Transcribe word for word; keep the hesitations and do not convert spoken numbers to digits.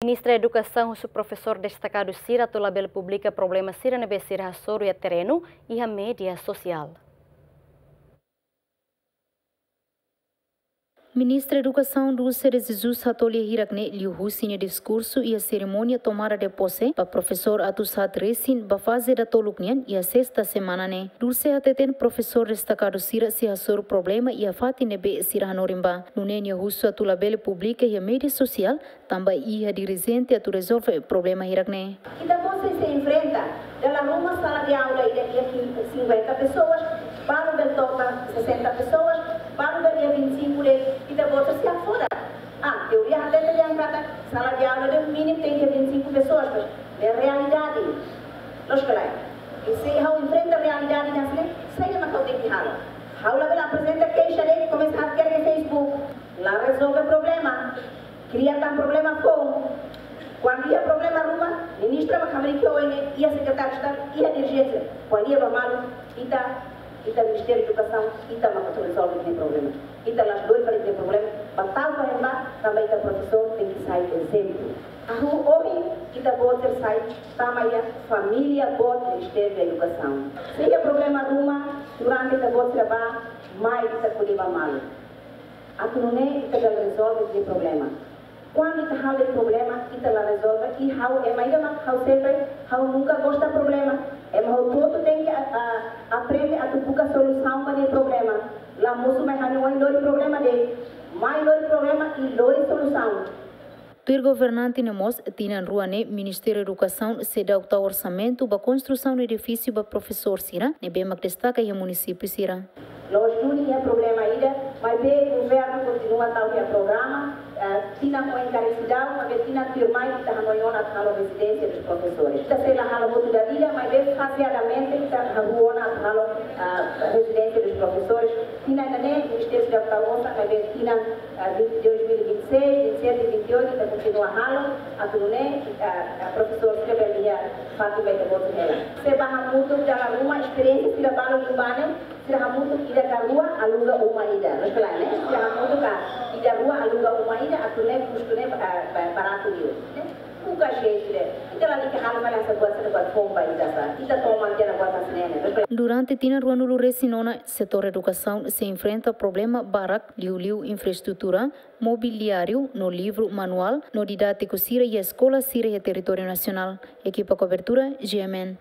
Ministra Edukasaun husu profesór destakadu sira atu labele publika problema sira ne'ebé sira hasoru iha terrenu iha média sosiál. Ministra Edukasaun Dulce de Jesus hato'o lia hirak ne'e liuhusi nia diskursu iha serimónia tomada de posse ba profesór atu sa'e resin ba faze datoluk nian iha sesta semana ne'e. Dulce hateten profesór destakadu sira sei hasoru problema iha fatin ne'ebé sira hanorin ba. Nune'e nia husu atu labele publika iha média sosiál tanba iha dirijente atu rezolve problema hirak ne'e. Ita-boot sei enfrenta, dala ruma sala de aula ida iha cinquenta pessoas, balu bele to'o sessenta pessoas, balu bele iha vinte e cinco de'it, ita-boot sei hafoda. Ah, teoria hatete dehan katak sala de aula ida mínimu tenke vinte e cinco pessoas, mas é realidade. Loos ka lae? I se ha'u enfrenta realidade hanesan ne'e, saida mak ha'u tenke halo? Ha'u labele aprezenta keixa de'it, komesa hakerek iha Facebook, la rezolve problema. Kria tan problema foun. Kuandu iha problema ruma, ministra mak hamriik iha O N, iha sekretáriu Estadu, iha dirijente. Kuandu iha ba malu, ita, ita Ministériu Edukasaun, ita mak atu rezolve nia problema. Ita la'ós doid fali nia problema, ba tau ba ema, tanba ita profesór tenke sai ezemplu. Ha'u ohin, ita-boot sira sai, tama iha família boot Ministériu Edukasaun. Se iha problema ruma, durante ita-boot sira bá, mai ita ko'alia ba malu. Atu nune'e ita bele rezolve nia problema. Kuandu ita halo de'it problema, ita la rezolve, i ha'u ema ida mak ha'u sempre, ha'u nunka gosta problema. Ema hotu-hotu tenke a, a, aprende atu buka solusaun ba nia problema. La mosu mai ha'u-nia oin lori problema de'it, mai lori problema i lori solusaun. Tuir governante ne'e mós, tinan rua ne'e Ministériu Edukasaun seidauk tau orsamentu ba konstrusaun edifísiu ba profesór sira ne'ebé mak destaka iha munisípiu sira. Loos duni iha problema ida, maibé governu kontinua tau iha programa, eh, tinan oin karik seidauk, maibé tinan tuirmai ita hanoin ona atu halo rezidénsia dos profesores. Ita sei la halo hotu dala ida, maibé fazeadamente ita hahú ona atu halo, ah, rezidénsia dos profesores. Tinan ida-ne'e, Ministériu seidauk tau osan, maibé tinan, ah, vinte, dois mil e vinte e seis, vinte e sete, vinte e oito, ita kontinua halo, atu nune'e, ah, ah, profesór sira bele iha fatin ba ita-boot sira hela. Se bá hamutuk dala ruma, esperiénsia sira balu liu ba ne'e, sira hamutuk ida ka rua aluga uma ida. Loos ka lae, ne'e? Sira hamutuk ka ida rua aluga uma ida, atu nune'e kustu ne'e, ah, ba-, baratu liu, ne'e? Buka jeitu de'it. Ita lalika halo fali hanesan buat sira buat foun ba ita sá. Ita toman tiha ona buat hanesan ne'e, ne'e? Loos ka lae? Durante tinan ruanulu-resin-neen ona, setór edukasaun sei enfrenta problema barak, liuliu infraestrutura, mobiliáriu, no livru, manuál, no didátiku sira iha eskola sira iha territóriu nasionál. Ekipa kobertura, G M N.